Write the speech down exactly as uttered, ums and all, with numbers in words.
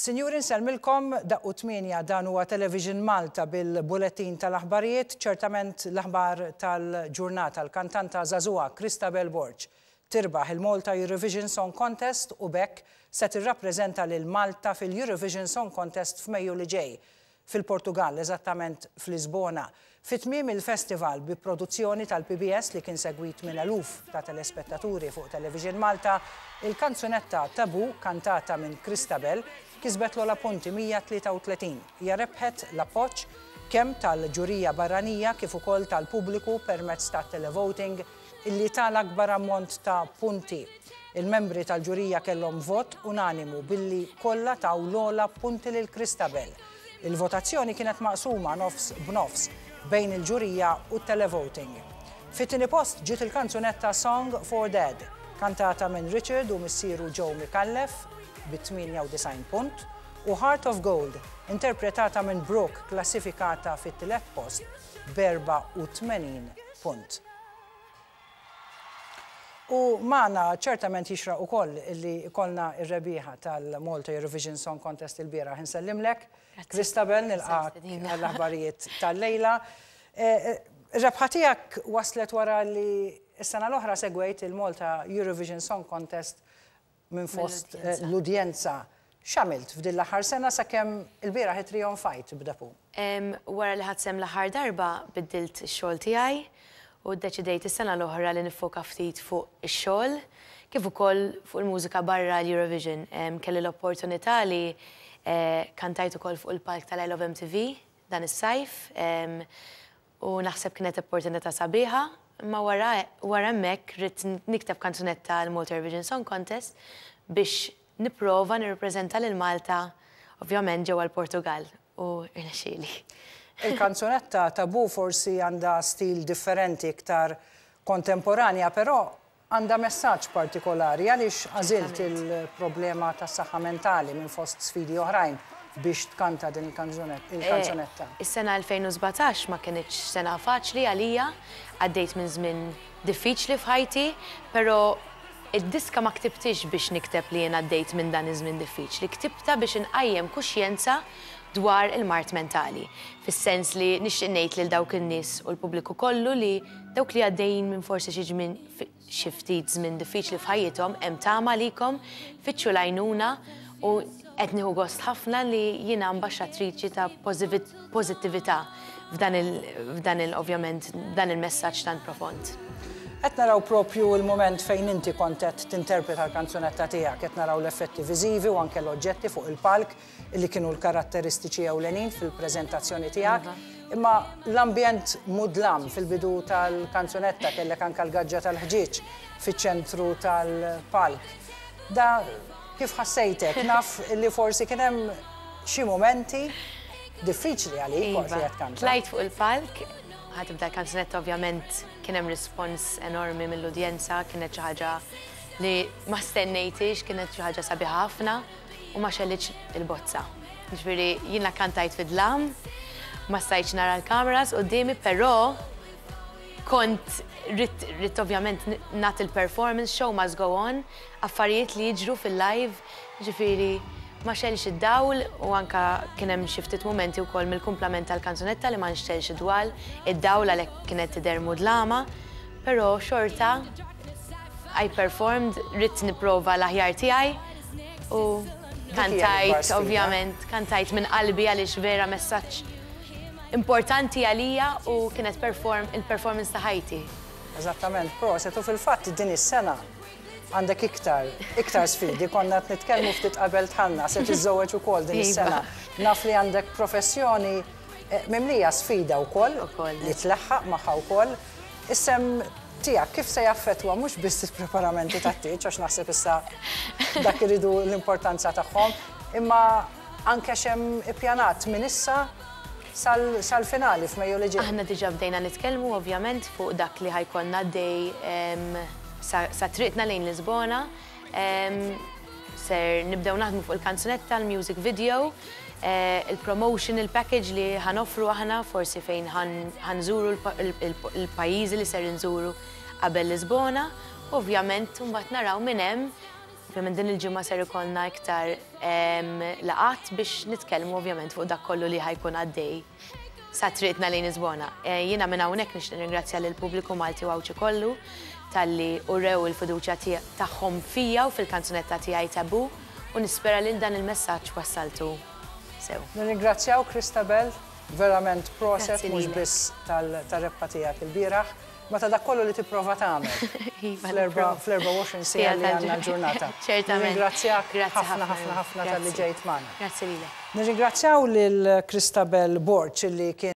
Sinjuri, nsellmilkom. Daqqu tmienja, dan huwa Television Malta bil-bulettin tal-aħbarijiet. Ċertament l-aħbar tal-ġurnata, l-kantanta żagħżugħa Christabel Borg tirbaħ il-Malta Eurovision Song Contest u b'hekk se tirrappreżenta lil Malta fil-Eurovision Song Contest f'Mejju li ġej fil-Portugal, eżattament f'Lisbona. Fit-tmiem il-festival bi produzzjoni tal-P B S li kien segwit minn eluf ta' telespettaturi fuq Television Malta, il-kanzunetta Tabu, kantata minn Christabel, kisbet l-ogħla punti, mija tlieta u tletin. Hija rebħet l-appoġġ kemm tal-ġurija barranija kif ukoll tal-pubbliku permezz ta' televoting illi tal-akbar ammont ta' punti. Il-membri tal-ġurija kellhom vot unanimu billi kollha taw l-ogħla punti lil Christabel. Il-votazzjoni kienet maqsuma nofs b'nofs bejn il-ġurija u televoting. Fit-tieni post ġiet il-kanzunetta Song for Dad, kantata minn Richard u missieru Joe Micallef bi tmienja u disgħin punt, u Heart of Gold, interpretata minn Brooke, klassifikata fit-tielet post b'erbgħa u tmenin punt. U magħna ċertament jixraq ukoll illi ikollna ir-rebbieħa tal-Malta Eurovision Song Contest il-bieraħ. Insellimlek, Christabel, nilqgħek għall-aħbarijiet tal-lejla. Ir-rebħa tiegħek waslet wara li s-sena l-oħra segwejt il-Malta Eurovision Song Contest minn fost l-udjenza. X'għamilt f'din l-aħħar sena sakemm il-bieraħ trionfajt b'Tabu? Wara li ħadt sehem l-aħħar darba, biddilt ix-xogħol tiegħi u ddeċidejt is-sena l-oħra li nifoka ftit fuq ix-xogħol kif ukoll fuq il-mużika barra l-Eurovision. Kelli l-opportunità li kantajt ukoll fuq il-palk tal-I Love M T V dan is-sajf u naħseb kienet opportunità sabiħa, imma wara wara hemmhekk ridt nikteb kanzunetta għal Malta Eurovision Song Contest biex nipprova nirrappreżenta lil Malta, ovvjament, ġewwa l-Portugal, u irnexxieli. Il-kanzunetta Tabu forsi għandha stil differenti, iktar kontemporanja, però għandha messaġġ partikolari. Għaliex għażilt il-problema tas saħħa mentali minn fost sfidi oħrajn biex tkanta din il-kanzunetta? Is-sena elfejn u sbatax ma kinitx sena faċli għalija, għaddejt minn żmien diffiċli f'ħajti, però id-diska ma ktibtix biex nikteb li jien għaddejt minn dan iż-żmien diffiċli, ktibta biex inqajjem kuxjenza dwar il-mard mentali. Fis-sens li nixtieq ngħid lil dawk in-nies u l-pubbliku kollu li dawk li għaddejjin minn forsi xi żmien, xi ftit żmien diffiċli f'ħajjithom, hemm tama għalikom, fittxu l-għajnuna, u qed nieħu gost ħafna li jiena ambaxxatriċi ta' pożittività f'dan il, f'dan il ovvjament dan il-messaġġ tant profond. Qed naraw propju il-moment fejn inti kont qed tinterpreta l-kanzunetta tiegħek, qed naraw l-effetti viżivi u anke l-oġġetti fuq il-palk li kienu l-karatteristiċi ewlenin fil-preżentazzjoni tiegħek. Imma l-ambjent mudlam fil-bidu tal-kanzunetta, kellek anke l-gaġġa tal-ħġieġ fiċ-ċentru tal-palk. Da kif ħassejtek? Naf li forsi kien hemm xi momenti diffiċli għalik waqt li qed tkanta. Tlajt fuq il-palk, ħa tibda l-kanzunetta, ovvjament kien hemm rispons enormi mill-udjenza, kienet xi ħaġa li ma stennejtix, kienet xi ħaġa sabiħa ħafna u ma xegħlitx il-bozza. Ġifieri jiena kantajt fid-dlam, ma stajtx nara l-kameras quddiemi, però kont ridt, ridt ovvjament nagħti il-performance, show must go on, affarijiet li jiġru fil-live, ġifieri ma xegħelx id-dawl u anka kien hemm xi ftit momenti wkoll mill-kumplament tal-kanzunetta li ma nxtegħelx id-dwal, id-dawl, għalhekk kienet tidher mudlama, però xorta I performed, ridt nipprova l-aħjar tiegħi u kantajt, ovvjament, kantajt minn qalbi għaliex vera messaġġ importanti għalija u kienet perform, il-performance ta' ħajti. Eżattament, proset, u fil-fatt din is-sena għandek iktar, iktar sfidi, konna qed nitkellmu ftit qabel dħalna, se tiżżewweġ ukoll din is-sena. Naf li għandek professjoni eh, mimlija sfida wkoll li tleħħaq magħha wkoll. Is-sehem tiegħek kif se jaffettwa mhux biss il-preparamenti tat-tieġ, għax naħseb issa dak iridu l-importanza tagħhom, imma anke x'hemm ippjanat minn issa sal-finali f'Mejju li ġej? Aħna diġà bdejna nitkellmu, ovvjament, fuq dak li ħa jkollna dej sa triqtna lejn Lisbona. Ser nibdew naħdmu fuq il-kanzunetta, l-music video, eh, il-promotion, il-package li ħa noffru aħna, forsi fejn ħa nżuru l-pajjiżi li ser nżuru qabel Lisbona. Ovvjament, mbagħad naraw minn hemm Ovvjament din il-ġimgħa ser ikollna iktar laqgħat biex nitkellmu ovvjament fuq dak kollu li ħa jkun għaddej sa triqtna lejn Lisbona. Jiena minn hawnhekk nixtieq nirringrazzja lill-pubbliku Malti u Għawdxi kollu talli urew il-fiduċja tagħhom fija u fil-kanzunetta tiegħi Taboo u nispera li dan il-messaġġ wassaltu sew. Nirringrazzjaw Christabel, verament proset mhux biss tal-rebħa tiegħek il-bieraħ, ma ta' dak kollu li tipprova tagħmel fl-erbgħa u għoxrin siegħa li għandna l-ġurnata. Ċertament. Nirringrazzjak ħafna ħafna ħafna talli ġejt magħna. Grazzi lilek. Nirringrazzjaw lil Christabel Borg li kien